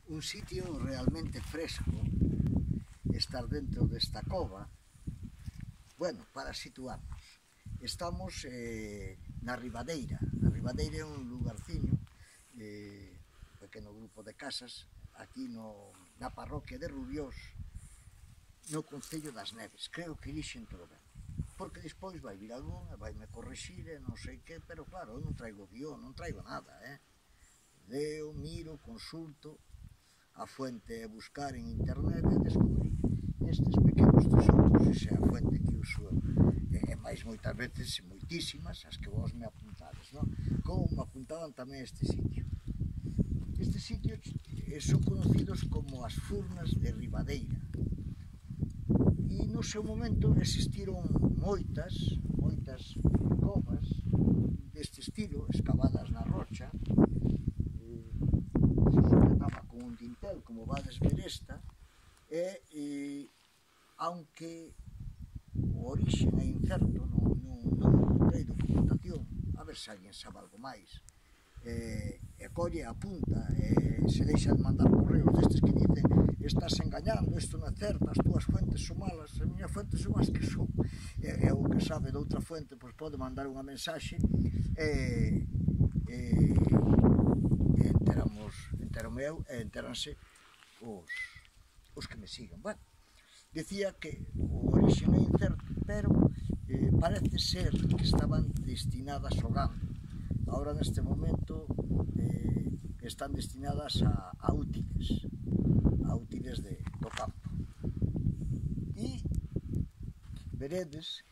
un sitio realmente fresco, estar dentro desta cova. Bueno, para situarnos, estamos na Ribadeira. A Ribadeira é un lugarciño, un pequeno grupo de casas, aquí na parroquia de Rubiós, no concello das Neves. Creo que dixen todo ben, porque despois vai vir algún e vai me corrixir e non sei que, pero claro, eu non traigo guión, non traigo nada, leo, miro, consulto, a fuente é buscar en internet e descubrir estes pequenos tesouros, esa é a fuente que uso eu, e máis moitas veces, moitísimas, as que vos me apuntades, non? Como me apuntaban tamén este sitio. Estes sitios son conocidos como as Furnas de Ribadeira, e no seu momento existiron moitas covas deste estilo, escavadas na rocha, se sujetaba con un dintel, como vades ver esta, e aunque o orixen é incerto, non encontrei documentación, a ver se alguén sabe algo máis, e colle, apunta, se deixa de mandar correos destes que dicen estás engañando, isto non é certo, as túas fuentes son malas, as miñas fuentes son as que son, e o que sabe de outra fuente pois pode mandar unha mensaxe e enterome eu e enteranse os que me siguen. Bueno, decía que o orixen é incerto, pero parece ser que estaban destinadas ao gando. Ahora neste momento están destinadas a útiles do campo. E veredes,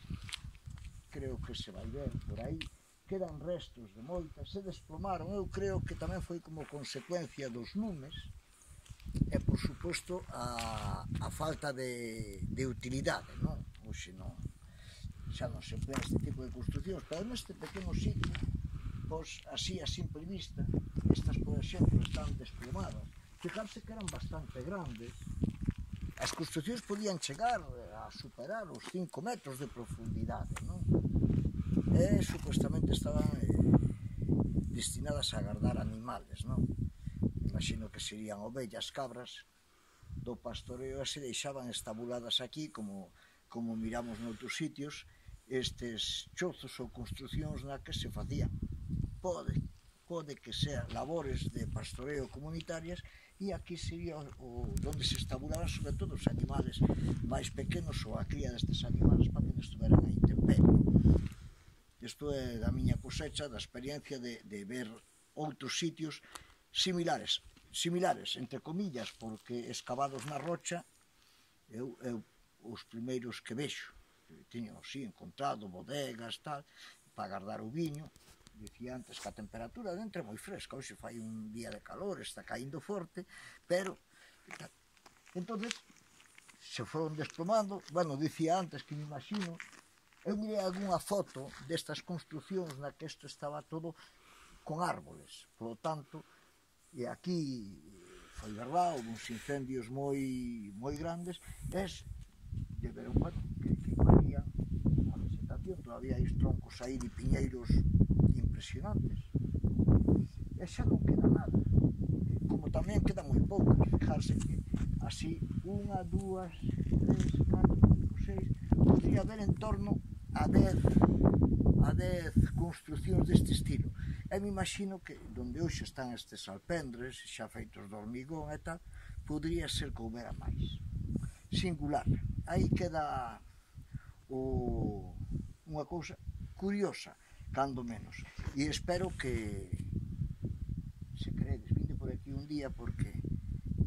creo que se vai ver por aí, quedan restos de moitas, se desplomaron, eu creo que tamén foi como consecuencia dos lumes e, por suposto, a falta de utilidade, non? Oxe non, xa non se emplea este tipo de construccións, pero neste pequeno sitio, pois, así a simple vista, estas, por exemplo, están desplomadas. Fijarse que eran bastante grandes, as construccións podían chegar a superar os 5 metros de profundidade, non? E supostamente estaban destinadas a guardar animales, non? Imagino que serían ovellas, cabras do pastoreo, e se deixaban estabuladas aquí, como miramos noutros sitios, estes chozos ou construccións na que se facían, pode que sean labores de pastoreo comunitarias, e aquí sería onde se estabulaban sobre todo os animales máis pequenos ou a cría destes animales para que non estuveran a intemperie. Isto é da miña cosecha, da experiencia de ver outros sitios similares, entre comillas, porque escavados na rocha, eu os primeiros que vexo, teño, sí, encontrado bodegas, tal, para guardar o viño. Dicía antes que a temperatura dentro é moi fresca, hoxe fai un día de calor, está caindo forte, pero entonces se foron desplomando. Bueno, dicía antes que me imagino, eu mirei algunha foto destas construccións na que isto estaba todo con árboles, polo tanto, e aquí foi verdade, houve uns incendios moi grandes, de ver que varían a vegetación, todavía hai troncos aí de piñeiros impresionantes, e xa non queda nada, como tamén queda moi pouco. Fijarse que así 1, 2, 3, 4, 5, 6, podría haber en torno a 10 construccións deste estilo, e me imagino que onde hoxe están estes alpendres xa feitos de hormigón e tal, podría ser que houbera máis. Singular, aí queda unha cousa curiosa, cando menos, e espero que, se queredes, vinde por aquí un día, porque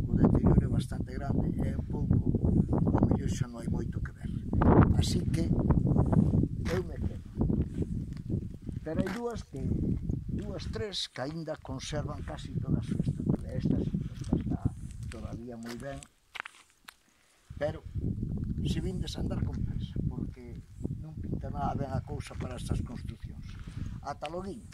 o deterioro é bastante grande, é un pouco, ao mellor xa non hai moito que ver, así que eu me quedo. Pero hai dúas, tres que aínda conservan casi toda a súa estrutura. Esta está todavía moi ben, pero se vindes a andar con presa, porque non pinta nada ben a cousa para estas construccións. Ata loguinho.